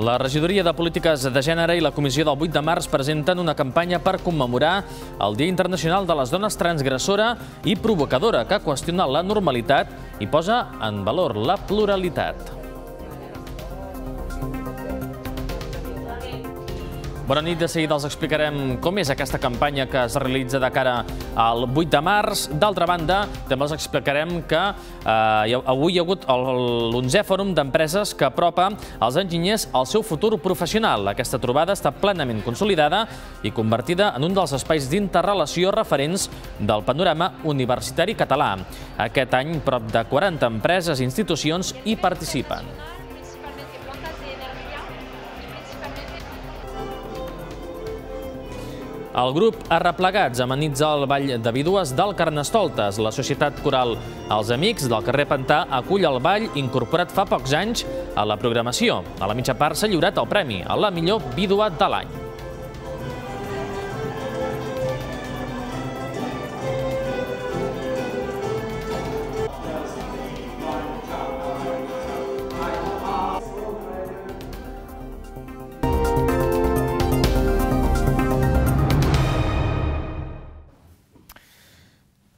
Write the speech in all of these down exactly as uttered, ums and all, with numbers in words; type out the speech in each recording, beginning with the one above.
La Regidoria de Polítiques de Gènere i la Comissió del vuit de març presenten una campanya per commemorar el Dia Internacional de les Dones transgressora i provocadora, que qüestiona la normalitat i posa en valor la pluralitat. Bona nit, de seguida els explicarem com és aquesta campanya que es realitza de cara al vuit de març. D'altra banda, també els explicarem que eh, avui hi ha hagut l'onzè fòrum d'empreses que apropa els enginyers al seu futur professional. Aquesta trobada està plenament consolidada i convertida en un dels espais d'interrelació referents del panorama universitari català. Aquest any, prop de quaranta empreses i institucions hi participen. El grup Arreplegats amenitza el Ball de Vídues del Carnestoltes. La Societat Coral Els Amics del carrer Pantà acull el ball incorporat fa pocs anys a la programació. A la mitja part s'ha lliurat el premi a la millor vídua de l'any.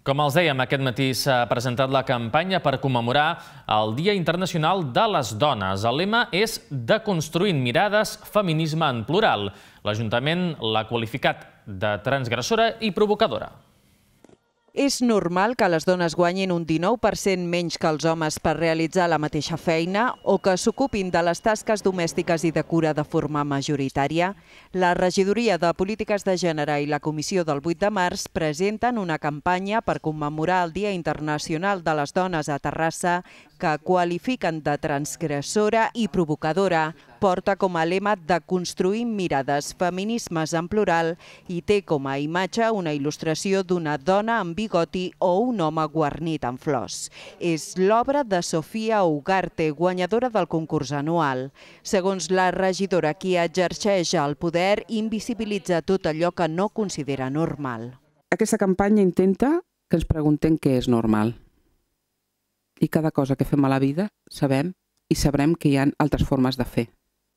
Com els dèiem, aquest matí s'ha presentat la campanya per commemorar el Dia Internacional de les Dones. El lema és Deconstruint mirades, feminisme en plural. L'Ajuntament l'ha qualificat de transgressora i provocadora. És normal que les dones guanyin un dinou per cent menys que els homes per realitzar la mateixa feina o que s'ocupin de les tasques domèstiques i de cura de forma majoritària? La Regidoria de Polítiques de Gènere i la Comissió del vuit de març presenten una campanya per commemorar el Dia Internacional de les Dones a Terrassa que qualifiquen de transgressora i provocadora. Porta com a lema de construir mirades, feminismes en plural i té com a imatge una il·lustració d'una dona amb bigoti o un home guarnit amb flors. És l'obra de Sofia Ugarte, guanyadora del concurs anual. Segons la regidora, qui exerceix el poder invisibilitza tot allò que no considera normal. Aquesta campanya intenta que ens preguntem què és normal. I cada cosa que fem a la vida sabem i sabrem que hi ha altres formes de fer.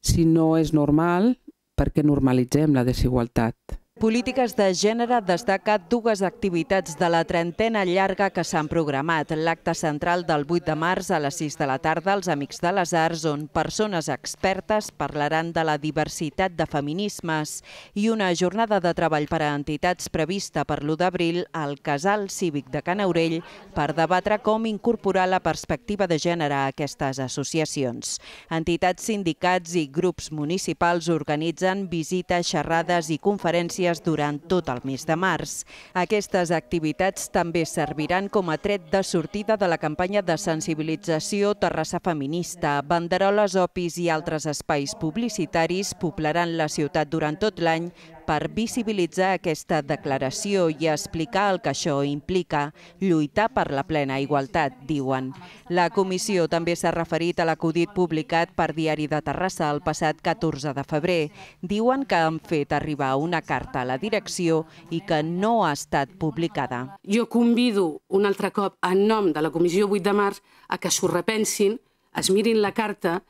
Si no és normal, per què normalitzem la desigualtat? Polítiques de Gènere destaca dues activitats de la trentena llarga que s'han programat. L'acte central del vuit de març a les sis de la tarda als Amics de les Arts, on persones expertes parlaran de la diversitat de feminismes, i una jornada de treball per a entitats prevista per l'u d'abril al Casal Cívic de Can Aurell per debatre com incorporar la perspectiva de gènere a aquestes associacions. Entitats, sindicats i grups municipals organitzen visites, xerrades i conferències durant tot el mes de març. Aquestes activitats també serviran com a tret de sortida de la campanya de sensibilització Terrassa Feminista. Banderoles, opis i altres espais publicitaris poblaran la ciutat durant tot l'any per visibilitzar aquesta declaració i explicar el que això implica, lluitar per la plena igualtat, diuen. La comissió també s'ha referit a l'acudit publicat per Diari de Terrassa el passat catorze de febrer. Diuen que han fet arribar una carta a la direcció i que no ha estat publicada. Jo convido un altre cop, en nom de la Comissió vuit de març, a que s'ho repensin, es mirin la carta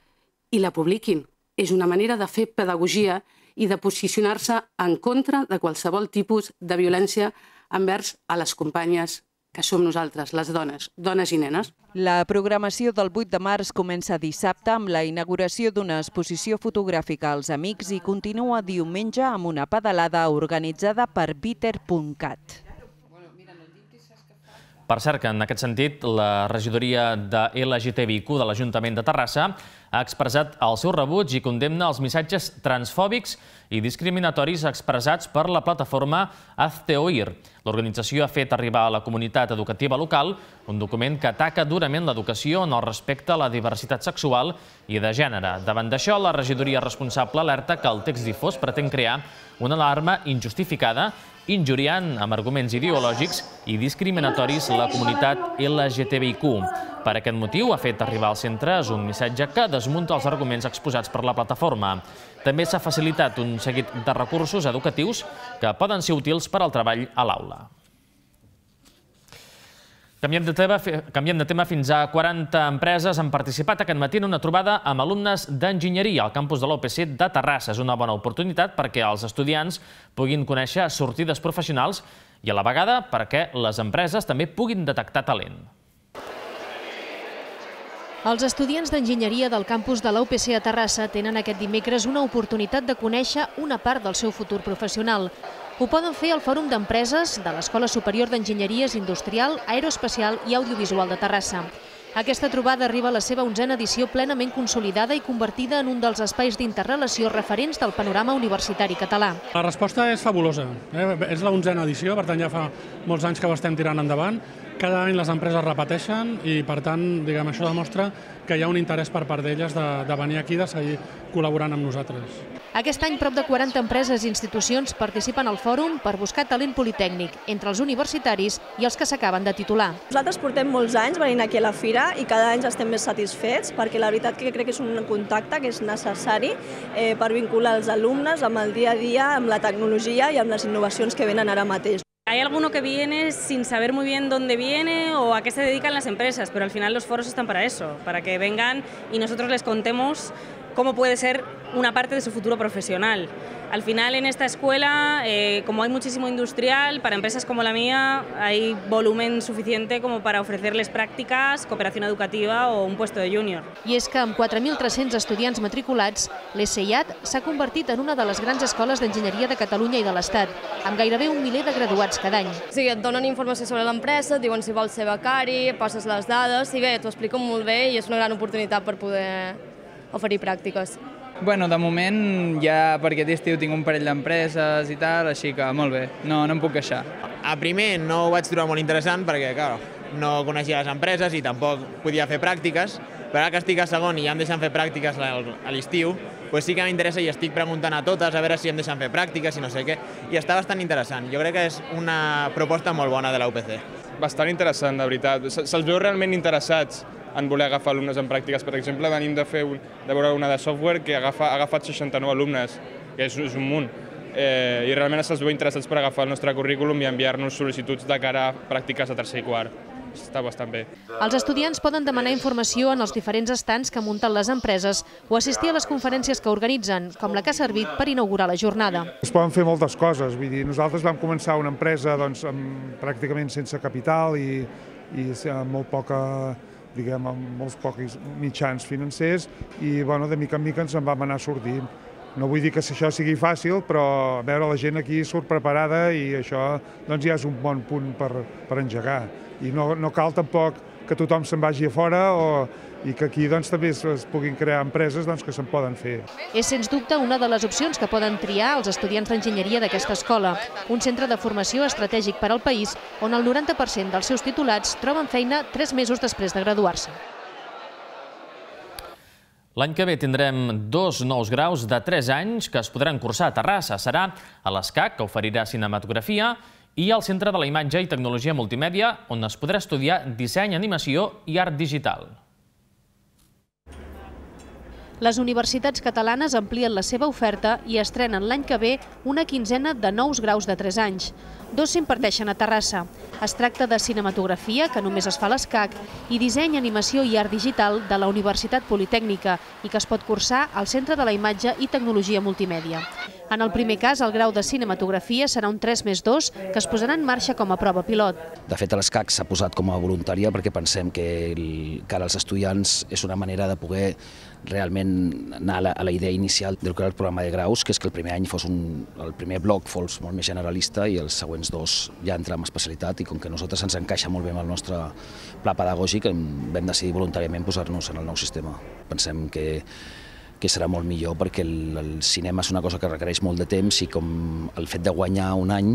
i la publiquin. És una manera de fer pedagogia i de posicionar-se en contra de qualsevol tipus de violència envers a les companyes que som nosaltres, les dones, dones i nenes. La programació del vuit de març comença dissabte amb la inauguració d'una exposició fotogràfica als Amics i continua diumenge amb una pedalada organitzada per bitter punt cat. Per cert, que en aquest sentit, la regidoria de L G T B I Q de l'Ajuntament de Terrassa ha expressat el seu rebuig i condemna els missatges transfòbics i discriminatoris expressats per la plataforma Hazteoír. L'organització ha fet arribar a la comunitat educativa local un document que ataca durament l'educació en el respecte a la diversitat sexual i de gènere. Davant d'això, la regidoria responsable alerta que el text difós pretén crear una alarma injustificada, injuriant amb arguments ideològics i discriminatoris la comunitat L G T B I Q. Per aquest motiu ha fet arribar als centres un missatge que desmunta els arguments exposats per la plataforma. També s'ha facilitat un seguit de recursos educatius que poden ser útils per al treball a l'aula. Canviem de tema, canviem de tema. Fins a quaranta empreses han participat aquest matí en una trobada amb alumnes d'enginyeria al campus de la U P C de Terrassa. És una bona oportunitat perquè els estudiants puguin conèixer sortides professionals i a la vegada perquè les empreses també puguin detectar talent. Els estudiants d'enginyeria del campus de la U P C a Terrassa tenen aquest dimecres una oportunitat de conèixer una part del seu futur professional. Ho poden fer al Fòrum d'Empreses de l'Escola Superior d'Enginyeries Industrial, Aeroespacial i Audiovisual de Terrassa. Aquesta trobada arriba a la seva onzena edició plenament consolidada i convertida en un dels espais d'interrelació referents del panorama universitari català. La resposta és fabulosa. És la onzena edició, per tant ja fa molts anys que ho estem tirant endavant. Cada any les empreses repeteixen i, per tant, diguem, això demostra que hi ha un interès per part d'elles de venir aquí i de seguir col·laborant amb nosaltres. Aquest any, prop de quaranta empreses i institucions participen al fòrum per buscar talent politècnic entre els universitaris i els que s'acaben de titular. Nosaltres portem molts anys venint aquí a la fira i cada any estem més satisfets perquè la veritat que crec que és un contacte que és necessari per vincular els alumnes amb el dia a dia, amb la tecnologia i amb les innovacions que venen ara mateix. Hay alguno que viene sin saber muy bien dónde viene o a qué se dedican las empresas, pero al final los foros están para eso, para que vengan y nosotros les contemos cómo puede ser una parte de su futuro profesional. Al final en esta escuela, eh, como hay muchísimo industrial, para empresas como la mía hay volumen suficiente como para ofrecerles prácticas, cooperación educativa o un puesto de júnior. I és que amb quatre mil tres-cents estudiants matriculats, l'E S I A T s'ha convertit en una de les grans escoles d'enginyeria de Catalunya i de l'Estat, amb gairebé un miler de graduats cada any. Sí, et donen informació sobre l'empresa, et diuen si vols ser becari, passes les dades i bé, t'ho expliquen molt bé i és una gran oportunitat per poder oferir pràctiques. Bueno, de moment ja per aquest estiu tinc un parell d'empreses i tal, així que molt bé, no, no em puc queixar. A primer no ho vaig trobar molt interessant perquè, clar, no coneixia les empreses i tampoc podia fer pràctiques, però ara que estic a segon i ja em deixen fer pràctiques a l'estiu, doncs sí que m'interessa i estic preguntant a totes a veure si em deixen fer pràctiques i no sé què, i està bastant interessant. Jo crec que és una proposta molt bona de la U P C. Bastant interessant, de veritat. Se'ls veu realment interessats en voler agafar alumnes en pràctiques. Per exemple, venim de fer de veure una de software que agafa, ha agafat seixanta-nou alumnes, que és, és un munt, eh, i realment se'ls veu interessats per agafar el nostre currículum i enviar-nos sol·licituds de cara a pràctiques de tercer i quart. Està bastant bé. Els estudiants poden demanar informació en els diferents estants que munten les empreses o assistir a les conferències que organitzen, com la que ha servit per inaugurar la jornada. Es poden fer moltes coses. Vull dir, nosaltres vam començar una empresa doncs, amb, pràcticament sense capital i, i amb molt poca, diguem, amb molts pocs mitjans financers i bueno, de mica en mica ens en vam anar sortint. No vull dir que això sigui fàcil, però veure la gent aquí surt preparada i això doncs, ja és un bon punt per, per engegar. I no, no cal tampoc que tothom se'n vagi a fora o, i que aquí doncs, també es, es puguin crear empreses doncs, que se'n poden fer. És sens dubte una de les opcions que poden triar els estudiants d'enginyeria d'aquesta escola, un centre de formació estratègic per al país on el noranta per cent dels seus titulats troben feina tres mesos després de graduar-se. L'any que ve tindrem dos nous graus de tres anys que es podran cursar a Terrassa. Serà a l'ESCAC, que oferirà cinematografia, i al Centre de la Imatge i Tecnologia Multimèdia, on es podrà estudiar disseny, animació i art digital. Les universitats catalanes amplien la seva oferta i estrenen l'any que ve una quinzena de nous graus de tres anys. Dos s'imparteixen a Terrassa. Es tracta de cinematografia, que només es fa a l'ESCAC, i disseny, animació i art digital de la Universitat Politècnica i que es pot cursar al Centre de la Imatge i Tecnologia Multimèdia. En el primer cas, el grau de cinematografia serà un tres més dos que es posarà en marxa com a prova pilot. De fet, a l'ESCAC s'ha posat com a voluntària perquè pensem que cara als estudiants és una manera de poder realment anar a la idea inicial del que era el programa de graus, que és que el primer any fos un, el primer bloc fos molt més generalista i els següents dos ja entrar en especialitat, i com que a nosaltres ens encaixa molt bé amb el nostre pla pedagògic, vam decidir voluntàriament posar-nos en el nou sistema. Pensem que que serà molt millor perquè el, el cinema és una cosa que requereix molt de temps i com el fet de guanyar un any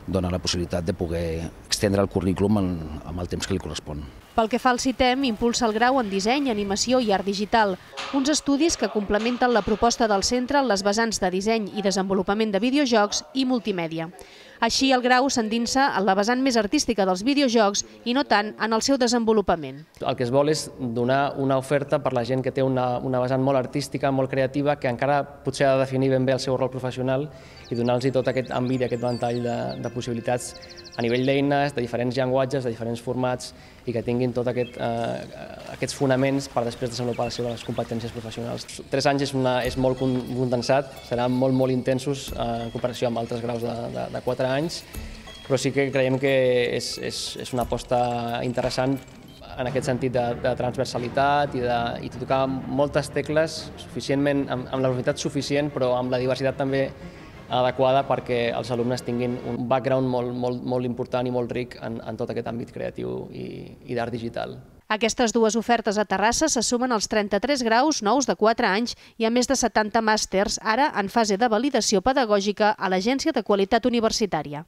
dona la possibilitat de poder extendre el currículum amb el temps que li correspon. Pel que fa al CITEM, impulsa el grau en disseny, animació i art digital, uns estudis que complementen la proposta del centre en les vessants de disseny i desenvolupament de videojocs i multimèdia. Així, el grau s'endinsa en la vessant més artística dels videojocs i no tant en el seu desenvolupament. El que es vol és donar una oferta per la gent que té una, una vessant molt artística, molt creativa, que encara potser ha de definir ben bé el seu rol professional i donar-los tot aquest àmbit i aquest ventall de, de possibilitats a nivell d'eines, de diferents llenguatges, de diferents formats i que tinguin tots aquest, eh, aquests fonaments per després desenvolupar les seves competències professionals. Tres anys és, una, és molt condensat, seran molt, molt intensos eh, en comparació amb altres graus de, de, de quatre anys, però sí que creiem que és, és, és una aposta interessant en aquest sentit de, de transversalitat i de, i de tocar moltes tecles suficientment, amb, amb la velocitat suficient, però amb la diversitat també adequada perquè els alumnes tinguin un background molt, molt, molt important i molt ric en, en tot aquest àmbit creatiu i, i d'art digital. Aquestes dues ofertes a Terrassa se sumen als trenta-tres graus nous de quatre anys i a més de setanta màsters, ara en fase de validació pedagògica a l'Agència de Qualitat Universitària.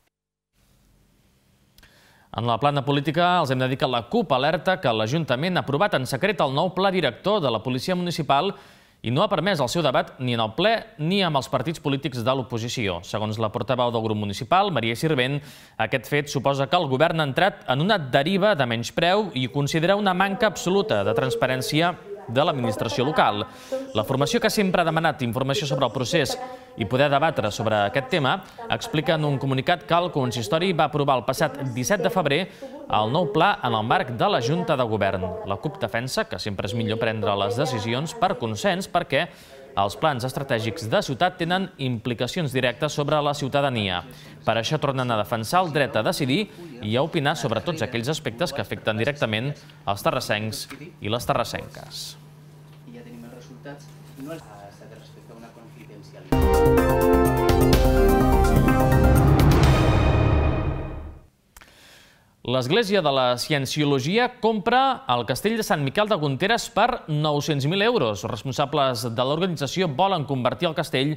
En la plana política els hem de dir que la CUP alerta que l'Ajuntament ha aprovat en secret el nou pla director de la Policia Municipal i no ha permès el seu debat ni en el ple ni amb els partits polítics de l'oposició. Segons la portaveu del grup municipal, Maria Sirvent, aquest fet suposa que el govern ha entrat en una deriva de menyspreu i considera una manca absoluta de transparència de l'administració local. La formació que sempre ha demanat informació sobre el procés i poder debatre sobre aquest tema explica en un comunicat que el consistori va aprovar el passat disset de febrer el nou pla en el marc de la Junta de Govern. La CUP defensa que sempre és millor prendre les decisions per consens perquè els plans estratègics de ciutat tenen implicacions directes sobre la ciutadania. Per això tornen a defensar el dret a decidir i a opinar sobre tots aquells aspectes que afecten directament els terrassencs i les terrassenques. Ja tenim els resultats. No s'ha de respectar una confidencialitat. L'Església de la Cienciologia compra el castell de Sant Miquel de Gunteres per nou-cents mil euros. Els responsables de l'organització volen convertir el castell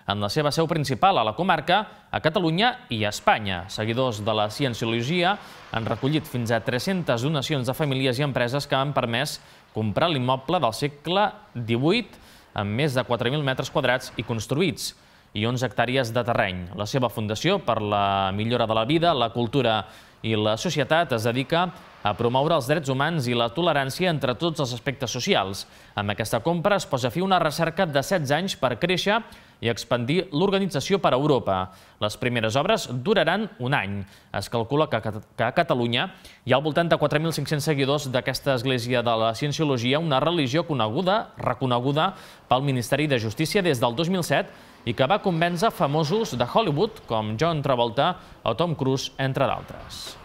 en la seva seu principal a la comarca, a Catalunya i a Espanya. Seguidors de la Cienciologia han recollit fins a tres-centes donacions de famílies i empreses que han permès comprar l'immoble del segle divuit amb més de quatre mil metres quadrats i construïts i onze hectàrees de terreny. La seva fundació per la millora de la vida, la cultura i la societat es dedica a promoure els drets humans i la tolerància entre tots els aspectes socials. Amb aquesta compra es posa fi a una recerca de setze anys per créixer i expandir l'organització per a Europa. Les primeres obres duraran un any. Es calcula que a Catalunya hi ha al voltant de quatre mil cinc-cents seguidors d'aquesta Església de la Cienciologia, una religió coneguda, reconeguda pel Ministeri de Justícia des del dos mil set i que va convèncer famosos de Hollywood com John Travolta o Tom Cruise, entre d'altres.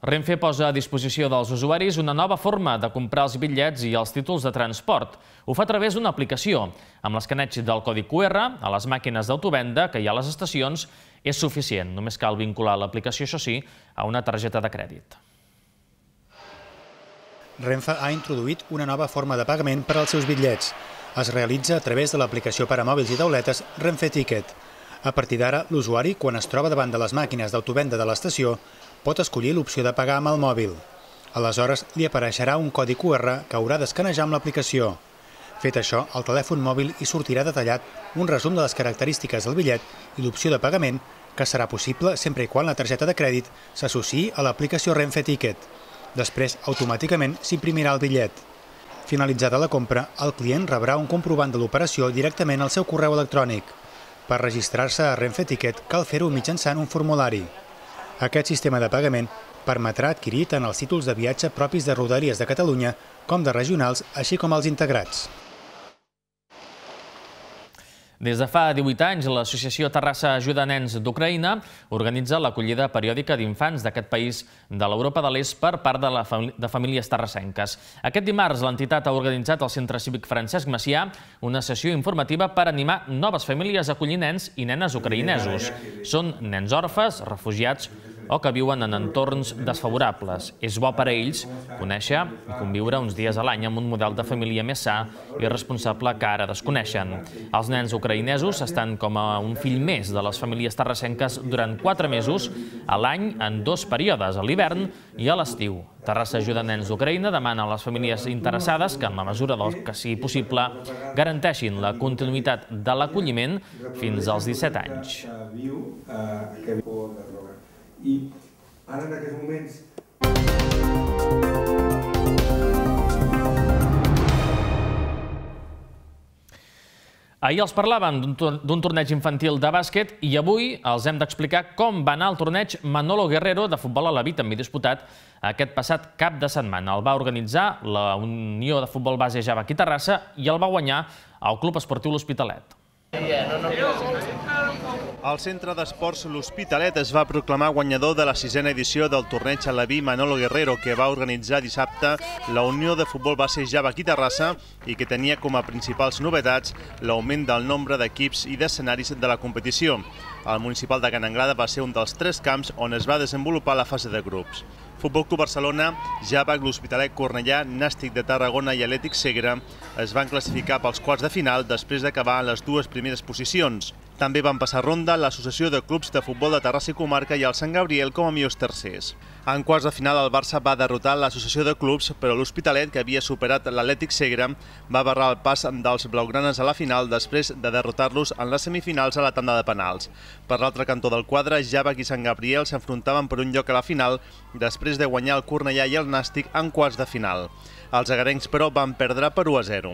Renfe posa a disposició dels usuaris una nova forma de comprar els bitllets i els títols de transport. Ho fa a través d'una aplicació. Amb l'escaneig del codi Q R a les màquines d'autovenda que hi ha a les estacions és suficient. Només cal vincular l'aplicació, això sí, a una targeta de crèdit. Renfe ha introduït una nova forma de pagament per als seus bitllets. Es realitza a través de l'aplicació per a mòbils i tauletes Renfe Ticket. A partir d'ara, l'usuari, quan es troba davant de les màquines d'autovenda de l'estació, pot escollir l'opció de pagar amb el mòbil. Aleshores, li apareixerà un codi Q R que haurà d'escanejar amb l'aplicació. Fet això, al telèfon mòbil hi sortirà detallat un resum de les característiques del bitllet i l'opció de pagament, que serà possible sempre i quan la targeta de crèdit s'associï a l'aplicació Renfe Ticket. Després, automàticament s'imprimirà el bitllet. Finalitzada la compra, el client rebrà un comprovant de l'operació directament al seu correu electrònic. Per registrar-se a Renfe Ticket cal fer-ho mitjançant un formulari. Aquest sistema de pagament permetrà adquirir tant els títols de viatge propis de Rodalies de Catalunya com de regionals, així com els integrats. Des de fa divuit anys, l'associació Terrassa Ajuda Nens d'Ucraïna organitza l'acollida periòdica d'infants d'aquest país de l'Europa de l'Est per part de, la famí de famílies terrassenques. Aquest dimarts, l'entitat ha organitzat al Centre Cívic Francesc Macià una sessió informativa per animar noves famílies a acollir nens i nenes ucraïnesos. Són nens orfes, refugiats o que viuen en entorns desfavorables. És bo per a ells conèixer i conviure uns dies a l'any amb un model de família més sa i responsable que ara desconeixen. Els nens ucraïnesos estan com a un fill més de les famílies terrassenques durant quatre mesos a l'any en dos períodes, a l'hivern i a l'estiu. Terrassa Ajuda Nens d'Ucraïna demana a les famílies interessades que, en la mesura del que sigui possible, garanteixin la continuïtat de l'acolliment fins als disset anys. I ara en aquests moments... Ahir els parlàvem d'un torneig infantil de bàsquet i avui els hem d'explicar com va anar el torneig Manolo Guerrero de futbol a la vida, també disputat aquest passat cap de setmana. El va organitzar la Unió de Futbol Base Java aquí a Terrassa i el va guanyar el Club Esportiu L'Hospitalet. El Centre d'Esports L'Hospitalet es va proclamar guanyador de la sisena edició del torneig Aleví Manolo Guerrero, que va organitzar dissabte la Unió de Futbol Base Java aquí a Terrassa i que tenia com a principals novetats l'augment del nombre d'equips i d'escenaris de la competició. El municipal de Can Anglada va ser un dels tres camps on es va desenvolupar la fase de grups. Futbol Club Barcelona, Java, L'Hospitalet, Cornellà, Nàstic de Tarragona i Atlètic Segre es van classificar pels quarts de final després d'acabar en les dues primeres posicions. També van passar ronda l'Associació de Clubs de Futbol de Terrassa i Comarca i el Sant Gabriel com a millors tercers. En quarts de final el Barça va derrotar l'Associació de Clubs, però l'Hospitalet, que havia superat l'Atlètic Segre, va barrar el pas dels blaugranes a la final després de derrotar-los en les semifinals a la tanda de penals. Per l'altre cantó del quadre, Java i Sant Gabriel s'enfrontaven per un lloc a la final després de guanyar el Cornellà i el Nàstic en quarts de final. Els agarencs, però, van perdre per u a zero.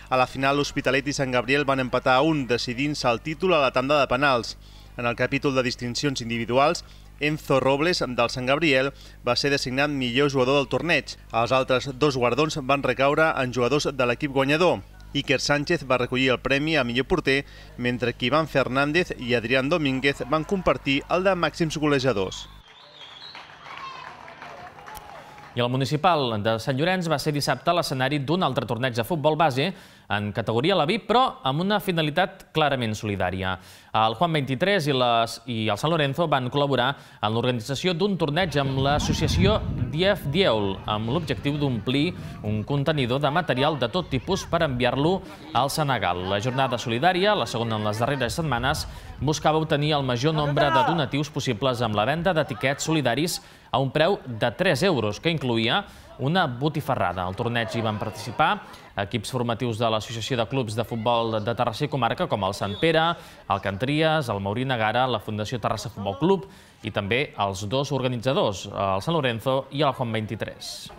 A la final, l'Hospitalet i Sant Gabriel van empatar a un, decidint-se el títol a la tanda de penals. En el capítol de distincions individuals, Enzo Robles, del Sant Gabriel, va ser designat millor jugador del torneig. Els altres dos guardons van recaure en jugadors de l'equip guanyador. Iker Sánchez va recollir el premi a millor porter, mentre que Iván Fernández i Adrián Domínguez van compartir el de màxims golejadors. I el municipal de Sant Llorenç va ser dissabte l'escenari d'un altre torneig de futbol base en categoria Aleví, però amb una finalitat clarament solidària. El Juan vint-i-tres i el Sant Lorenzo van col·laborar en l'organització d'un torneig amb l'associació Dief Dieul, amb l'objectiu d'omplir un contenidor de material de tot tipus per enviar-lo al Senegal. La jornada solidària, la segona en les darreres setmanes, buscava obtenir el major nombre de donatius possibles amb la venda d'etiquets solidaris a un preu de tres euros, que incloïa una botifarrada. Al torneig hi van participar equips formatius de l'Associació de Clubs de Futbol de Terrassa i Comarca, com el Sant Pere, el Cantries, el Maurí Negara, la Fundació Terrassa Futbol Club i també els dos organitzadors, el Sant Lorenzo i el Juan vint-i-tres.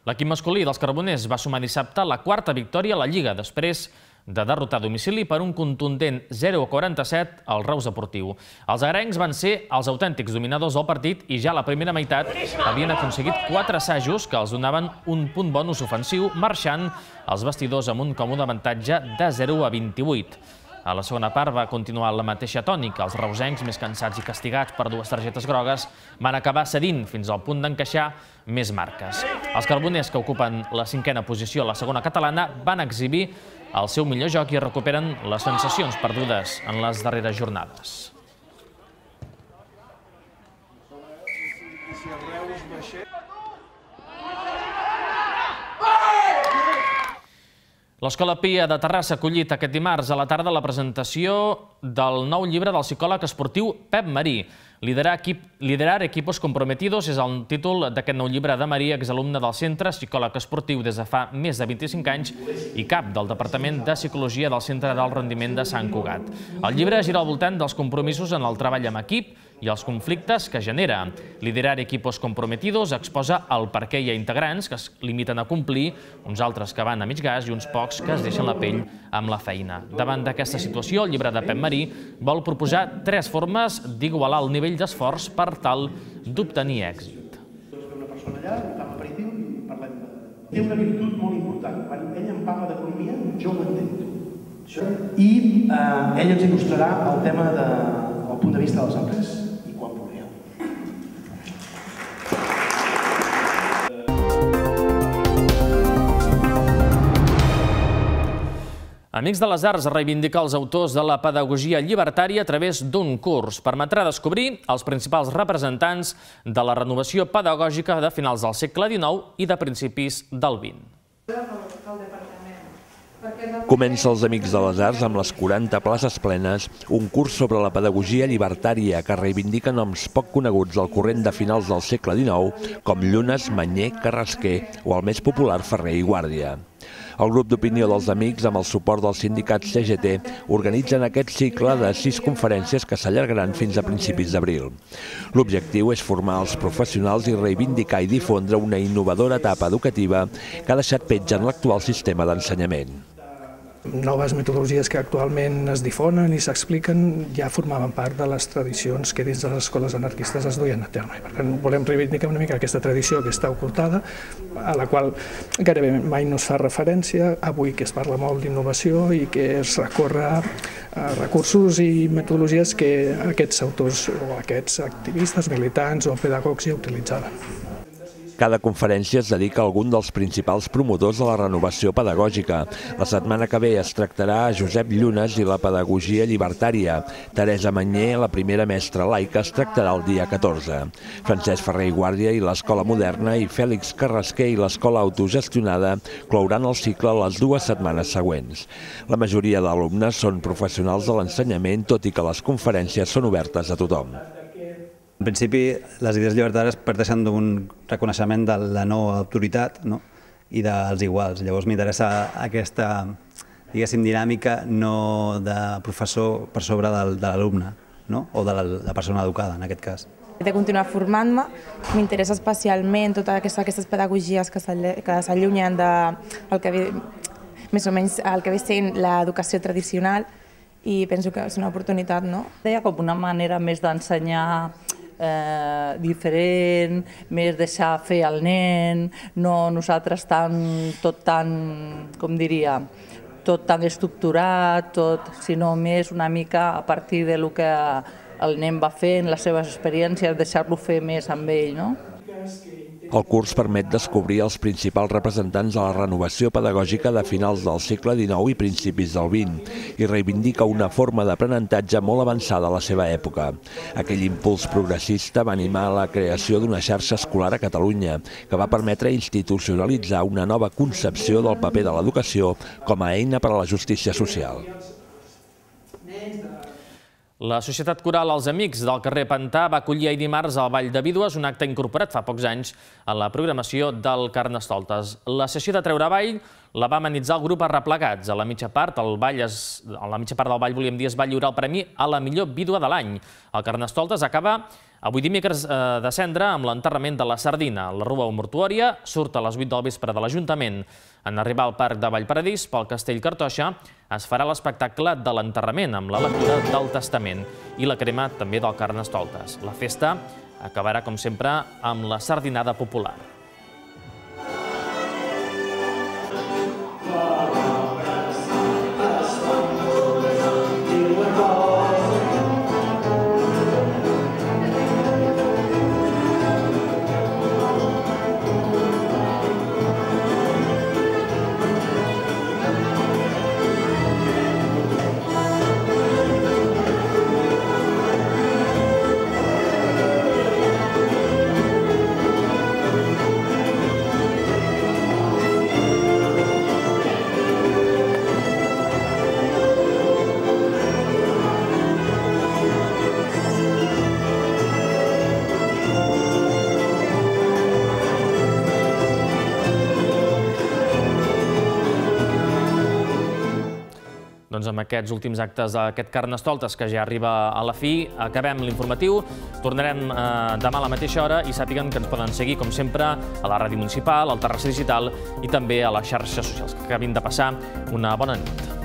L'equip masculí dels Carboners va sumar dissabte la quarta victòria a la Lliga, després de derrotar a domicili per un contundent zero a quaranta-set al Reus Deportiu. Els agrencs van ser els autèntics dominadors del partit i ja a la primera meitat havien aconseguit quatre assajos que els donaven un punt bonus ofensiu, marxant els vestidors amb un còmode avantatge de zero a vint-i-vuit. A la segona part va continuar la mateixa tònica. Els reusencs, més cansats i castigats per dues targetes grogues, van acabar cedint fins al punt d'encaixar més marques. Els carboners, que ocupen la cinquena posició a la segona catalana, van exhibir el seu millor joc i recuperen les sensacions perdudes en les darreres jornades. L'Escola Pia de Terrassa ha acollit aquest dimarts a la tarda la presentació del nou llibre del psicòleg esportiu Pep Marí. Liderar equipos comprometidos és el títol d'aquest nou llibre de Marí, exalumne del centre, psicòleg esportiu des de fa més de vint-i-cinc anys i cap del Departament de Psicologia del Centre d'Alt Rendiment de Sant Cugat. El llibre gira al voltant dels compromisos en el treball amb equip i els conflictes que genera. Liderar equipos comprometidos exposa el per què hi ha integrants que es limiten a complir, uns altres que van a mig gas i uns pocs que es deixen la pell amb la feina. Davant d'aquesta situació, el llibre de Pep Marí vol proposar tres formes d'igualar el nivell d'esforç per tal d'obtenir èxit. Una persona allà, fa l'aperitiu i parlem de... Té una virtut molt important. Quan ell em parla d'economia, jo ho entenc. I ell ens il·lustrarà el tema del punt de vista de les empreses. Amics de les Arts reivindica els autors de la pedagogia llibertària a través d'un curs. Permetrà descobrir els principals representants de la renovació pedagògica de finals del segle dinou i de principis del vint. Comença els Amics de les Arts amb les quaranta places plenes, un curs sobre la pedagogia llibertària que reivindica noms poc coneguts del corrent de finals del segle dinou, com Llunes, Manyer, Carrasquer o el més popular Ferrer i Guàrdia. El grup d'opinió dels Amics, amb el suport del sindicat C G T, organitzen aquest cicle de sis conferències que s'allargaran fins a principis d'abril. L'objectiu és formar els professionals i reivindicar i difondre una innovadora etapa educativa que ha deixat petja en l'actual sistema d'ensenyament. Noves metodologies que actualment es difonen i s'expliquen ja formaven part de les tradicions que dins de les escoles anarquistes es duien a terme. Per tant, volem reivindicar una mica aquesta tradició que està ocultada, a la qual gairebé mai no es fa referència, avui que es parla molt d'innovació i que es recorre a recursos i metodologies que aquests autors o aquests activistes, militants o pedagogs ja utilitzaven. Cada conferència es dedica a algun dels principals promotors de la renovació pedagògica. La setmana que ve es tractarà a Josep Llunes i la pedagogia llibertària. Teresa Manyer, la primera mestra laica, es tractarà el dia catorze. Francesc Ferrer i Guàrdia i l'Escola Moderna i Fèlix Carrasquer i l'Escola Autogestionada clouran el cicle les dues setmanes següents. La majoria d'alumnes són professionals de l'ensenyament, tot i que les conferències són obertes a tothom. En principi, les idees llibertàries parteixen d'un reconeixement de la no autoritat i dels iguals. Llavors m'interessa aquesta, diguéssim, dinàmica no de professor per sobre de l'alumne o de la persona educada, en aquest cas. De continuar formant-me, m'interessa especialment totes aquestes pedagogies que s'allunyen del que ve, més o menys el que ve sent l'educació tradicional, i penso que és una oportunitat, no? Deia com una manera més d'ensenyar diferent, més deixar fer el nen, no nosaltres tot tan, com diria, tot tan estructurat, sinó més una mica a partir del que el nen va fent, les seves experiències, deixar-lo fer més amb ell, no? El curs permet descobrir els principals representants de la renovació pedagògica de finals del segle dinou i principis del vint i reivindica una forma d'aprenentatge molt avançada a la seva època. Aquell impuls progressista va animar la creació d'una xarxa escolar a Catalunya que va permetre institucionalitzar una nova concepció del paper de l'educació com a eina per a la justícia social. La Societat Coral Els Amics del carrer Pantà va acollir ahir dimarts al Ball de Vídues, un acte incorporat fa pocs anys a la programació del Carnestoltes. La sessió de treure avall la va amenitzar el grup Arreplegats. A la mitja part del ball, a la mitja part del ball, volíem dir, es va lliurar el premi a la millor vídua de l'any. El Carnestoltes acaba avui dimecres de cendra amb l'enterrament de la sardina. La rua mortuòria surt a les vuit del vespre de l'Ajuntament. En arribar al Parc de Vallparadís, pel Castell Cartoixa, es farà l'espectacle de l'enterrament amb la lectura del Testament i la crema també del Carnestoltes. La festa acabarà, com sempre, amb la sardinada popular. Doncs amb aquests últims actes d'aquest Carnestoltes, que ja arriba a la fi, acabem l'informatiu. Tornarem demà a la mateixa hora i sàpiguen que ens poden seguir, com sempre, a la ràdio municipal, al Terrassa Digital i també a les xarxes socials. Que acabin de passar una bona nit.